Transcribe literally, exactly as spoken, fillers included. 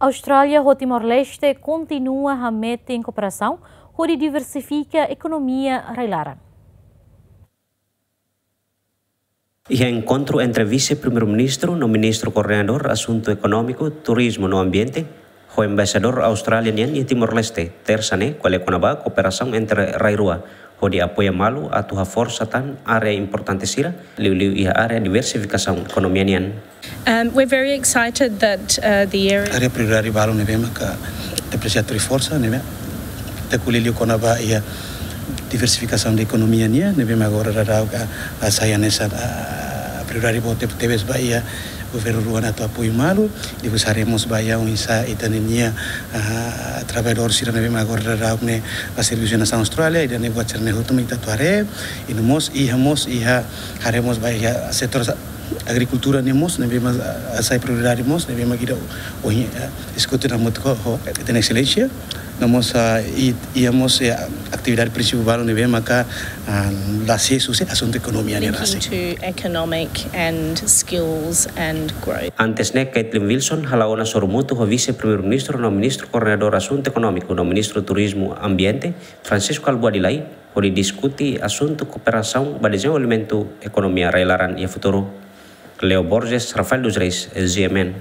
Austrália ho Timor-Leste kontinua hametin kooperasaun hodi diversifika ekonomia rai-laran. Iha enkontru entre Vise-Primeiru-Ministru no Ministru Koordenadór Asuntu Ekonómiku, Turizmu no Ambiente, ho Embaixadór Austrália nian iha Timor-Leste, Tersa ne'e, ko'alia kona-ba kooperasaun entre rai rua, hodi apoia malu atu haforsa tan área importante sira, liuliu iha área diversifikasaun ekonomia nian. Um, we're very excited that, uh, the area Área prioridade balu ne'ebé maka ita presiza atu reforsa, ne'ebé ita ko'alia liu kona-ba iha diversifikasaun de ekonomia nian, ne'ebé maka agora daudaun ka, ah, sai hanesan, ah, prioridade boot tebes ba iha governu rua atu apoiu malu, depois haree mós ba iha oinsá ita-nia, ah, traballadór sira ne'ebé maka agora daudaun ne'e ba servisu nasaun Austrália, ida-ne'e buat sira-ne'e hotu mak ita atu haree, i no mós iha mós iha haree mós ba iha setór agrikultura nian mós, ne'ebé maka, ah, sai prioridade mós, ne'ebé maka ida ohin, ah, diskute hamutuk ho, ho ita-nia Exelénsia. No mós, ah, i, iha mós, eh, atividade prinsipál balu ne'ebé maka, ah, la sees husi asuntu ekonomia nian rasik. Linking to economic and skills and growth. Antes ne'e, Caitlin Wilson hala'o ona sorumutu ho Vise-Primeiru-Ministru no Ministru Koordenadór Asuntu Ekonómiku no Ministru Turizmu Ambiente, Francisco Albuadi Lai, hodi diskute asuntu kooperasaun ba dezenvolvimentu ekonomia rai-laran iha futuru. Leo Borges, Rafael dos Reis, G M N.